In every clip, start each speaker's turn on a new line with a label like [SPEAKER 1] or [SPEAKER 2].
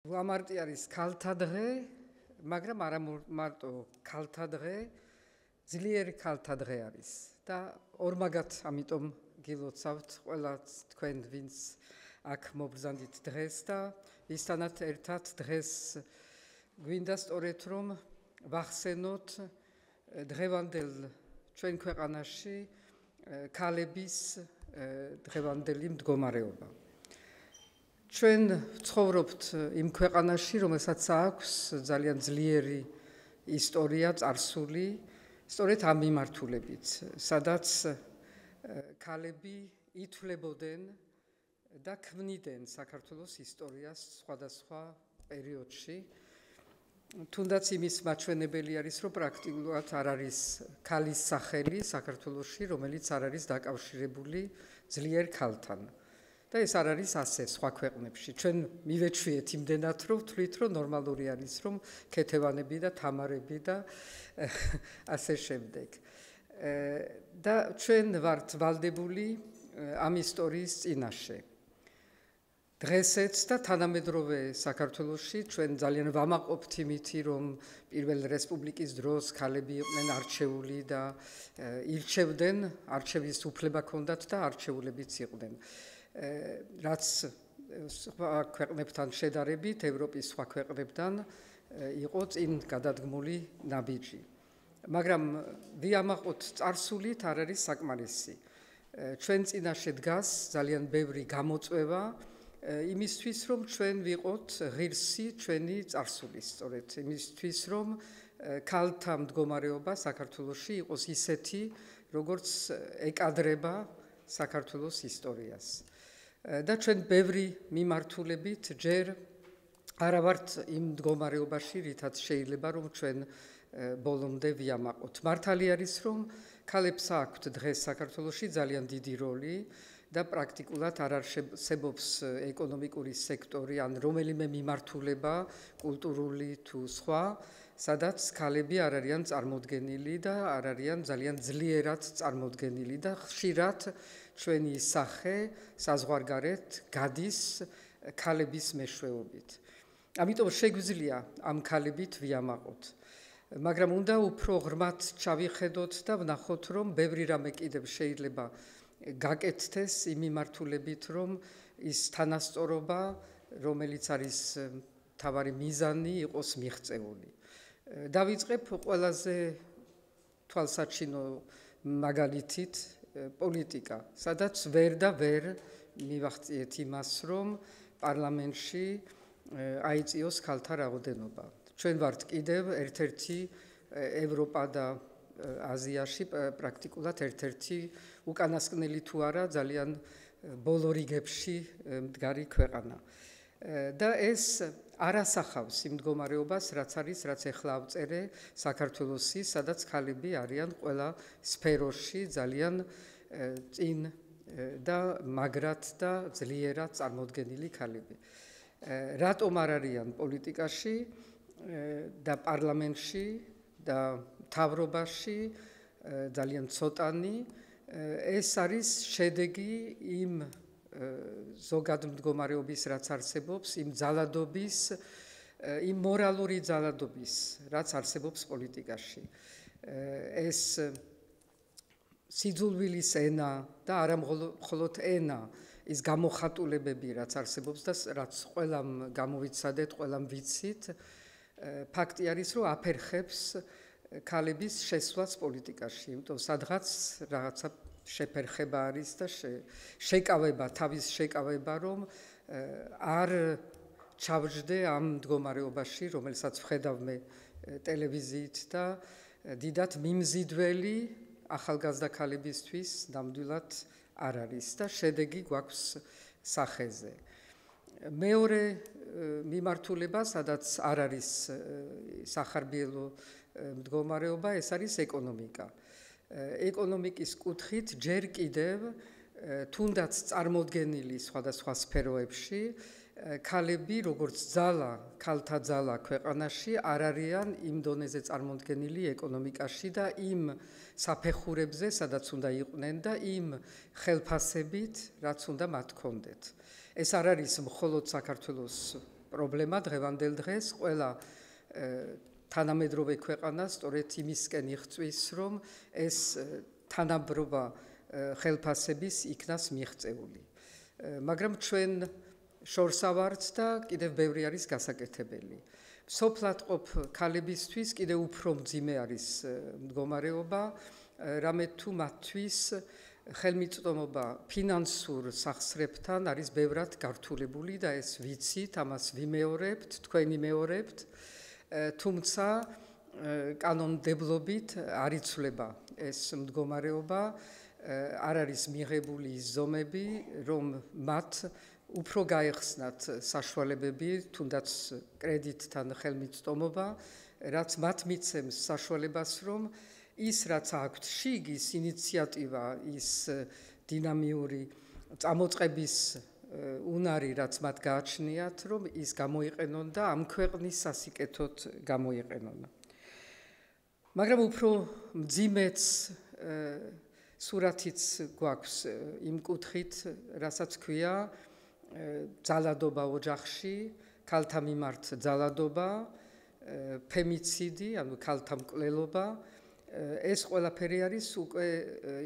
[SPEAKER 1] Lamarti არის ქალთა დღე, მაგრამ არა მარტო ქალთა დღე, ძლიერი ქალთა დღე არის და ორმაგად ამიტომ გილოცავთ ყველა თქვენ ვინც აქ მობრძანდით დღეს და ისთანაც ერთად დღეს გვინდა სწორედ რომ ვახსენოთ დღევანდელ ჩვენ ქვეყანაში ქალების დღევანდელი მდგომარეობა. ჩვენ ვცხოვრობთ იმ ქვეყანაში, რომელსაც აქვს ძალიან ძლიერი ისტორია წარსული, სწორედ ამ მიმართულებით, სადაც ქალები ითვლებოდნენ და ქმნიდნენ საქართველოს ისტორიას სხვადასხვა პერიოდში. თუნდაც იმის მაჩვენებელი არის, რომ პრაქტიკულად არ არის ქალის სახელი საქართველოში, რომელიც არ არის დაკავშირებული ძლიერ ქალთან. და ეს არ არის ასე სხვა ქვეყნებში. ჩვენ მივეჩვიეთ იმდენად, რომ ვთვლით, რომ ნორმალური არის, რომ ქეთევანები და თამარები და ასე შემდეგ. და ჩვენ ვართ ვალდებული ამ ისტორიის წინაშე. დღესეც და თანამედროვე საქართველოში ჩვენ ძალიან ვამაყობთ იმითი, რომ პირველ რესპუბლიკის დროს ქალები იყვნენ არჩეული და ირჩევდნენ, არჩევის უფლება ჰქონდათ და არჩეულებიც იყვნენ. რაც სხვა ქვეყნებთან შედარებით, ევროპის სხვა ქვეყნებთან იყო წინ გადადგმული ნაბიჯი. მაგრამ ვიამაყოთ წარსულით არ არის საკმარისი. ჩვენ წინაშე დგას ძალიან ბევრი გამოწვევა იმისთვის, რომ ჩვენ ვიყოთ ღირსი ჩვენი წარსულის, სწორედ იმისთვის, რომ ქალთა მდგომარეობა საქართველოში იყოს ისეთი, როგორც ეკადრება საქართველოს ისტორიას. და ჩვენ ბევრი მიმართულებით ჯერ არა ვართ იმ მდგომარეობაში, რითაც შეიძლება რომ ჩვენ ბოლომდე ვიამაყოთ. მართალი არის, რომ ქალებს აქვთ დღეს საქართველოში ძალიან დიდი როლი და პრაქტიკულად არ არსებობს ეკონომიკური სექტორი ან რომელიმე მიმართულება, კულტურული თუ სხვა, სადაც ქალები არ არიან წარმოდგენილი და არ არიან ძალიან ძლიერად წარმოდგენილი და ხშირად ჩვენი სახე საზღვარგარეთ გადის ქალების მეშვეობით. ამიტომ შეგვიძლია ამ ქალებით ვიამაყოთ. მაგრამ უნდა უფრო ღრმად ჩავიხედოთ და ვნახოთ, რომ ბევრი რამე კიდევ შეიძლება გაკეთდეს იმ მიმართულებით, რომ ის თანასწორობა, რომელიც არის მთავარი მიზანი, იყოს მიღწეული. დავიწყებ ყველაზე თვალსაჩინო მაგალითით პოლიტიკა, სადაც ვერ და ვერ მივახციეთ იმას, რომ პარლამენტში აიწიოს ქალთა რაოდენობა. ჩვენ ვართ კიდევ ერთ-ერთი ევროპა და აზიაში პრაქტიკულად ერთ-ერთი უკანასკნელი თუ არა ძალიან ბოლო რიგებში მდგარი ქვეყანა. და ეს არ ასახავს იმ მდგომარეობას, რაც არის, რაც ახლა ავწერე საქართველოსი, სადაც ქალები არიან ყველა სფეროში ძალიან წინ და მაგრად და ძლიერად წარმოდგენილი ქალები. რატომ არ არიან პოლიტიკაში და პარლამენტში და მთავრობაში ძალიან ცოტანი, ეს არის შედეგი იმ ზოგად მდგომარეობის, რაც არსებობს, იმ ძალადობის, იმ მორალური ძალადობის, რაც არსებობს პოლიტიკაში. ეს სიძულვილის ენა და არა მხოლოდ ენა, ის გამოხატულებები, რაც არსებობს და რაც ყველამ გამოვიცადეთ, ყველამ ვიცით, ფაქტი არის, რომ აფერხებს ქალების შესვლას პოლიტიკაში, იმიტომ სადღაც რაღაცა შეფერხება არის და შეკავება, თავის შეკავება, რომ არ ჩავჯდე ამ მდგომარეობაში, რომელსაც ვხედავ ტელევიზიით და დიდად მიმზიდველი ახალგაზრდა ქალებისთვის ნამდვილად არ არის და შედეგი გვაქვს სახეზე. მეორე მიმართულება, სადაც არ არის სახარბიელო მდგომარეობა, ეს არის ეკონომიკა. ეკონომიკის კუთხით ჯერ კიდევ თუნდაც წარმოდგენილი სხვადასხვა სფეროებში ქალები როგორც ძალა, ქალთა ძალა ქვეყანაში არ არიან იმ დონეზე წარმოდგენილი ეკონომიკაში და იმ საფეხურებზე, სადაც უნდა იყვნენ და იმ ხელფასებით, რაც უნდა მათ ჰქონდეთ. ეს არ არის მხოლოდ საქართველოს პრობლემა დღევანდელ დღეს ყველა თანამედროვე ქვეყანა სწორედ იმისკენ იღწვის, რომ ეს თანაბრობა ხელფასების იქნას მიღწეული. მაგრამ ჩვენ შორს ავართ და კიდევ ბევრი არის გასაკეთებელი. სოფლად ყოფ ქალებისთვის კიდევ უფრო მძიმე არის მდგომარეობა, რამე თუ მათთვის ხელმიწვდომობა ფინანსურ სახსრებთან არის ბევრად გართულებული და ეს ვიცით, ამას ვიმეორებთ, თქვენ იმეორებთ, თუმცა კანონმდებლობით არ იცვლება ეს მდგომარეობა, არ არის მიღებული ის ზომები, რომ მათ უფრო გაეხსნათ საშუალებები, თუნდაც კრედიტთან ხელმიწვდომობა, რაც მათ მიცემს საშუალებას, რომ ის რაც აქვთ შიგ, ის ინიციატივა, ის დინამიური წამოწყების უნარი, რაც მათ გააჩნიათ, რომ ის გამოიყენონ და ამ ქვეყნის სასიკეთოდ გამოიყენონ. მაგრამ უფრო მძიმეც სურათიც გვაქვს იმ კუთხით, რასაც ქვია ძალადობა ოჯახში, ქალთა მიმართ ძალადობა, ფემიციდი, ანუ ქალთა მკვლელობა. ეს ყველაფერი არის უკვე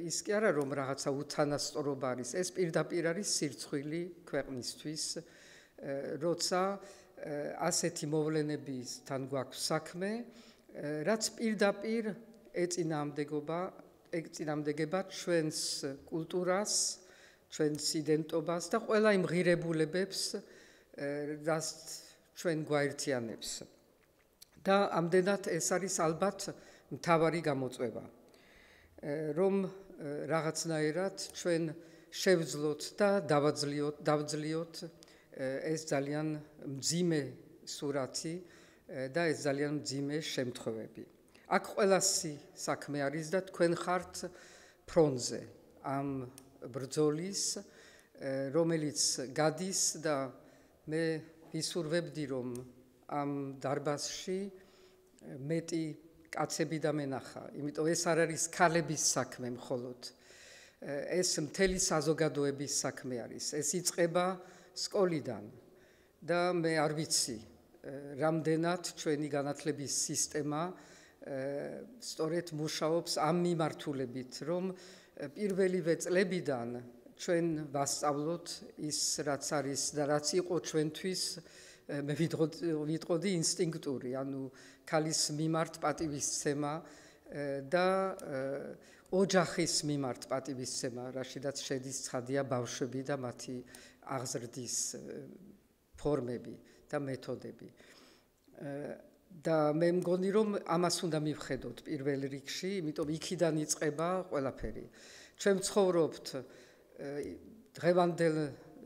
[SPEAKER 1] ის კი არა, რომ რაღაცა უთანასწორობა არის, ეს პირდაპირ არის სირცხვილი ქვეყნისთვის, როცა ასეთი მოვლენებისთან გვაქვს საქმე, რაც პირდაპირ ეწინააღმდეგება ჩვენს კულტურას, ჩვენს იდენტობას და ყველა იმ ღირებულებებს, რაც ჩვენ გვაერთიანებს. და ამდენად ეს არის ალბათ მთავარი გამოწვევა, რომ რაღაცნაირად ჩვენ შევძლოთ და დავძლიოთ ეს ძალიან მძიმე სურათი და ეს ძალიან მძიმე შემთხვევები. აქ ყველასი საქმე არის და თქვენ ხართ ფრონტზე ამ ბრძოლის, რომელიც გადის და მე ვისურვებდი, რომ ამ დარბაზში მეტი კაცები დამენახა, იმიტომ ეს არ არის ქალების საქმე მხოლოდ. ეს მთელი საზოგადოების საქმე არის. ეს იწყება სკოლიდან და მე არ ვიცი, რამდენად ჩვენი განათლების სისტემა სწორედ მუშაობს ამ მიმართულებით, რომ პირველივე წლებიდან ჩვენ ვასწავლოთ ის, რაც არის და რაც იყო ჩვენთვის, მე ვიტყოდი ინსტინქტური, ანუ ქალის მიმართ პატივისცემა და ოჯახის მიმართ პატივისცემა, რაშიდაც შედის ცხადია ბავშვები და მათი აღზრდის ფორმები და მეთოდები. და მე მგონი, რომ ამას უნდა მივხედოთ პირველ რიგში, იმიტომ იქიდან იწყება ყველაფერი. ჩვენ ვცხოვრობთ დღევანდელ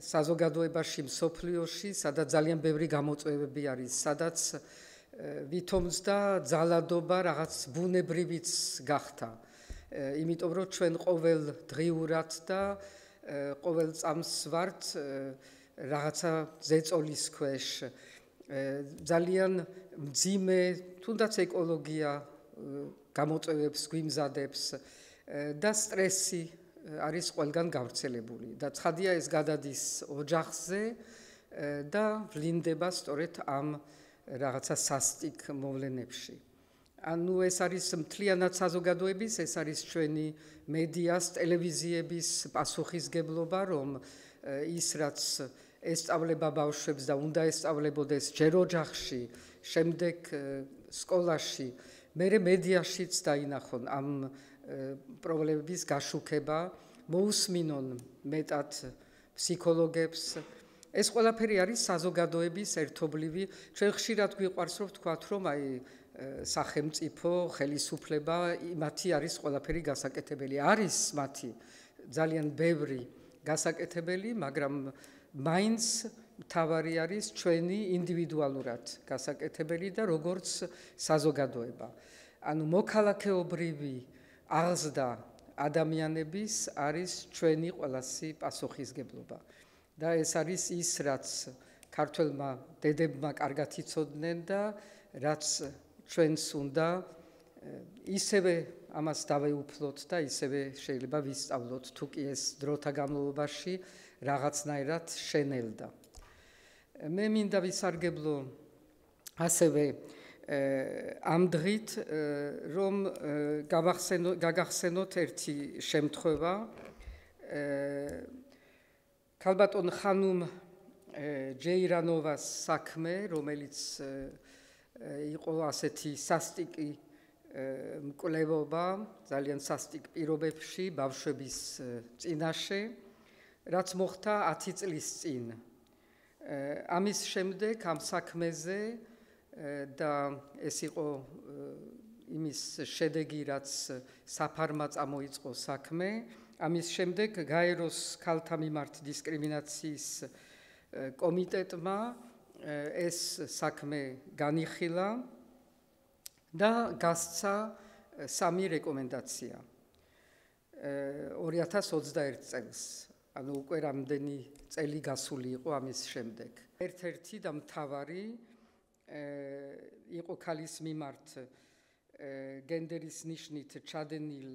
[SPEAKER 1] საზოგადოებაში, მსოფლიოში, სადაც ძალიან ბევრი გამოწვევები არის, სადაც ვითომც და ძალადობა რაღაც ბუნებრივიც გახდა. იმიტომ რომ ჩვენ ყოველ დღიურად და ყოველ წამს ვართ რაღაცა ზეწოლის ქვეშ, ძალიან მძიმე, თუნდაც ეკოლოგია გამოწვევებს გვიმზადებს და სტრესი არის ყველგან გავრცელებული და ცხადია ეს გადადის ოჯახზე და ვლინდება სწორედ ამ რაღაცა სასტიკ მოვლენებში. ანუ ეს არის მთლიანად საზოგადოების, ეს არის ჩვენი მედიას, ტელევიზიების პასუხისგებლობა, რომ ის რაც ესწავლება ბავშვებს და უნდა ესწავლებოდეს ჯერ ოჯახში, შემდეგ სკოლაში, მერე მედიაშიც დაინახონ ამ პრობლემების გაშუქება, მოусმინონ მეტად ფსიქოლოგებს. ეს ყველაფერი არის საზოგადოების ერთობლივი. ჩვენ ხშირად გვიყვარს რომ ვთქვათ, რომ აი სახელმწიფო, ხელისუფლება, მათი არის ყველაფერი გასაკეთებელი. არის მათი ძალიან ბევრი გასაკეთებელი, მაგრამ მაინც მთავარი არის ჩვენი ინდივიდუალურად გასაკეთებელი და როგორც საზოგადოება. ანუ მოქალაქეობრივი აღზრდა ადამიანების არის ჩვენი ყველასი პასუხისგებლობა. და ეს არის ის, რაც ქართველმა დედებმა კარგად იცოდნენ და რაც ჩვენს უნდა ისევე ამას დავეუფლოთ და ისევე შეიძლება ვისწავლოთ, თუ კი ეს დროთა განმავლობაში რაღაცნაირად შენელდა. მე მინდა ვისარგებლო ასევე ამ დღით, რომ გაგახსენოთ ერთი შემთხვევა. ქალბატონ ხანუმ ჯეირანოვას საქმე, რომელიც იყო ასეთი სასტიკი მკვლევობა, ძალიან სასტიკ პირობებში ბავშვების წინაშე, რაც მოხდა 10 წლის წინ. ამის შემდეგ ამ საქმეზე და ეს იყო იმის შედეგი, რაც საფარმა წამოიწყო საქმე, ამის შემდეგ გაეროს ქალთა მიმართ დისკრიმინაციის კომიტეტმა ეს საქმე განიხილა და გასცა 3 რეკომენდაცია 2021 წელს. ანუ უკვე რამდენი წელი გასული იყო ამის შემდეგ. ერთ-ერთი და მთავარი იყო ქალის მიმართ გენდერის ნიშნით ჩადენილ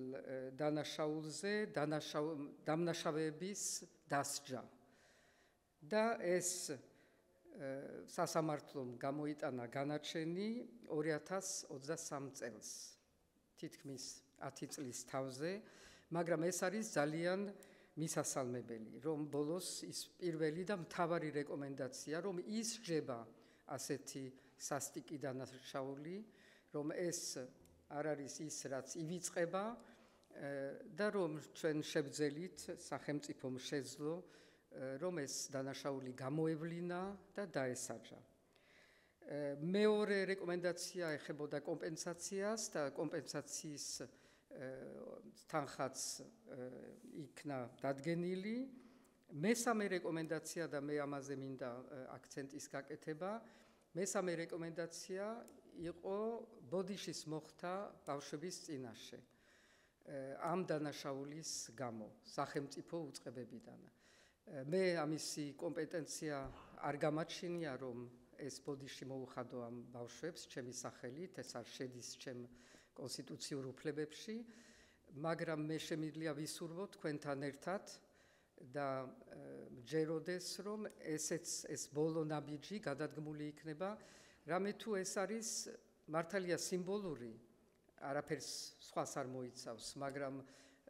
[SPEAKER 1] დანაშაულზე დამნაშავეების დასჯა. და ეს სასამართლომ გამოიტანა განაჩენი 2023 წელს, თითქმის 10 წლის თავზე, მაგრამ ეს არის ძალიან მისასალმებელი, რომ ბოლოს ის პირველი და მთავარი რეკომენდაცია, რომ ისჯება ასეთი სასტიკი დანაშაული, რომ ეს არ არის ის, რაც ივიწყება და რომ ჩვენ შევძელით სახელმწიფომ შეძლო, რომ ეს დანაშაული გამოევლინა და დაესაჯა. მეორე რეკომენდაცია ეხებოდა კომპენსაციას და კომპენსაციის თანხაც იქნა დადგენილი. მესამე რეკომენდაცია და მე ამაზე მინდა აქცენტის გაკეთება. მესამე რეკომენდაცია იყო ბოდიშის მოხდა ბავშვების წინაშე ამ დანაშაულის გამო სახელმწიფო უწყებებიდან. მე ამისი კომპეტენცია არ გამაჩნია, რომ ეს ბოდიში მოუხადო ამ ბავშვებს ჩემი სახელით, ეს არ შედის ჩემ კონსტიტუციურ უფლებებში, მაგრამ მე შემიძლია ვისურვო თქვენთან ერთად და მჯეროდეს, რომ ეს ბოლო ნაბიჯი გადადგმული იქნება, რამე თუ ეს არის მართალია სიმბოლური, არაფერს სხვას არ მოიცავს, მაგრამ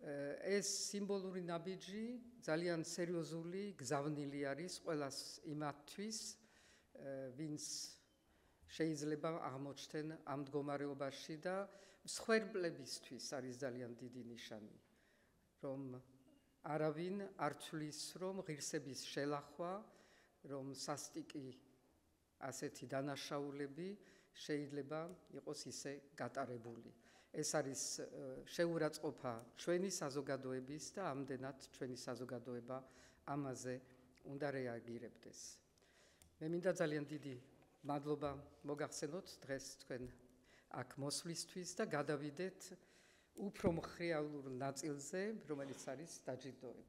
[SPEAKER 1] ეს სიმბოლური ნაბიჯი ძალიან სერიოზული გზავნილი არის ყველას იმათთვის, ვინც შეიძლება აღმოჩნდნენ ამ მდგომარეობაში და მსხვერპლებისთვის არის ძალიან დიდი ნიშანი, რომ არავინ არ თვლის, რომ ღირსების შელახვა, რომ სასტიკი ასეთი დანაშაულები შეიძლება იყოს ისე გატარებული. ეს არის შეურაცხყოფა ჩვენი საზოგადოების და ამდენად ჩვენი საზოგადოება ამაზე უნდა რეაგირებდეს. მე მინდა ძალიან დიდი მადლობა მოგახსენოთ დღეს თქვენ აქ მოსვლისთვის და გადავიდეთ უფრო მხრეალურ ნაწილზე, რომელიც არის დაჯილდოება.